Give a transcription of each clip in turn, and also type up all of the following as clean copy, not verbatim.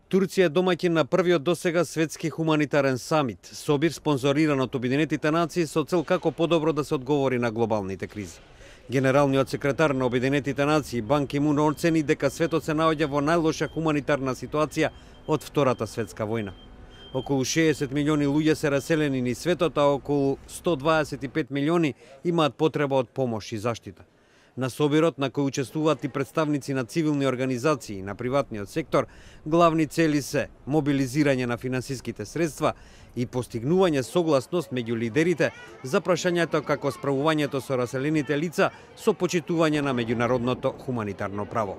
Турција е домаќин на првиот досега светски хуманитарен самит, собир спонзориран од Обединетите нации со цел како подобро да се одговори на глобалните кризи. Генералниот секретар на Обединетите нации Бан Ки Мун оцени дека светот се наоѓа во најлоша хуманитарна ситуација од Втората светска војна. Околу 60 милиони луѓе се раселени низ светот, а околу 125 милиони имаат потреба од помош и заштита. На собирот, на кој учествуваат и представници на цивилни организации и на приватниот сектор, главни цели се мобилизирање на финансиските средства и постигнување согласност меѓу лидерите за прашањето како справувањето со раселените лица со почитување на меѓународното хуманитарно право.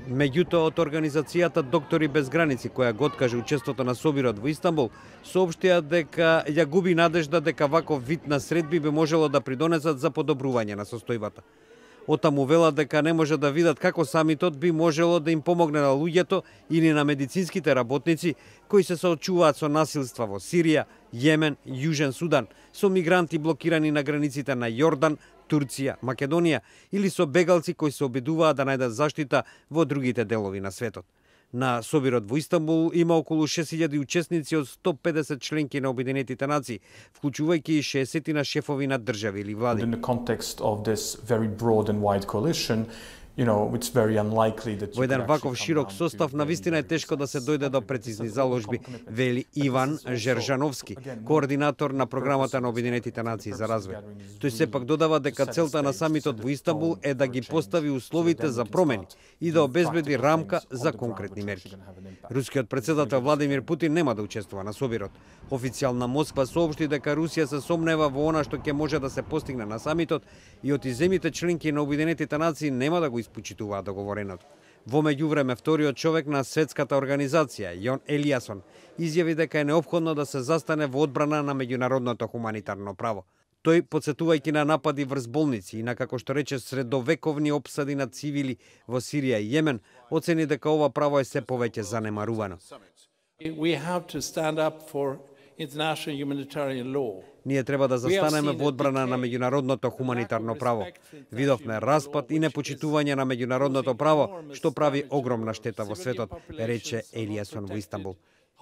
Меѓутоа, од организацијата Доктори без граници, која го откаже учеството на собирот во Истанбул, соопштија дека ја губи надежда дека ваков вид на средби би можело да придонесат за подобрување на состојбата. Отаму велат дека не може да видат како самитот би можело да им помогне на луѓето или на медицинските работници кои се соочуваат со насилства во Сирија, Јемен, Јужен Судан, со мигранти блокирани на границите на Јордан, Турција, Македонија или со бегалци кои се обидуваат да најдат заштита во другите делови на светот. На собирот во Истанбул има околу 6000 учесници од 150 членки на Обединетите нации, вклучувајќи и 60 на шефови на држави или влади. In the context of this very broad and wide coalition, it's very unlikely that Во еден ваков широк состав навистина е тешко да се дојде до прецизни заложби, вели Иван Жержановски, координатор на програмата на Обединетите нации за развој. Тој сепак додава дека целта на самитот во Истанбул е да ги постави условите за промени и да обезбеди рамка за конкретни мерки. Рускиот председател Владимир Путин нема да учествува на собирот. Официјална Москва соопшти дека Русија се сомнева во она што ќе може да се постигне на самитот и од земјите членки на Обединетите нации нема да го испочитуваат договореното. Во меѓувреме, вториот човек на светската организација, Јон Елиасон, изјави дека е неопходно да се застане во одбрана на меѓународното хуманитарно право. Тој, подсетувајќи на напади врз болници и на, како што рече, средовековни опсади на цивили во Сирија и Јемен, оцени дека ова право е се повеќе занемарувано. Ние треба да застанеме во одбрана на меѓународното хуманитарно право. Видовме распад и непочитување на меѓународното право, што прави огромна штета во светот, рече Елиасон во Истанбул.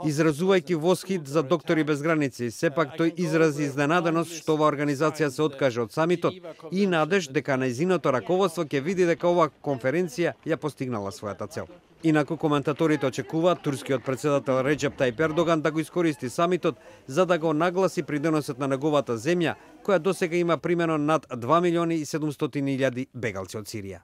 Изразувајќи восхит за Доктори без граници, сепак тој изрази изненаденост што оваа организација се откаже од самитот и надеж дека нејзиното раководство ќе види дека оваа конференција ја постигнала својата цел. Инаку коментаторите очекуваат турскиот председател Реџеп Тајип Ердоган да го искористи самитот за да го нагласи придонесот на неговата земја, која досега има примено над 2.700.000 бегалци од Сирија.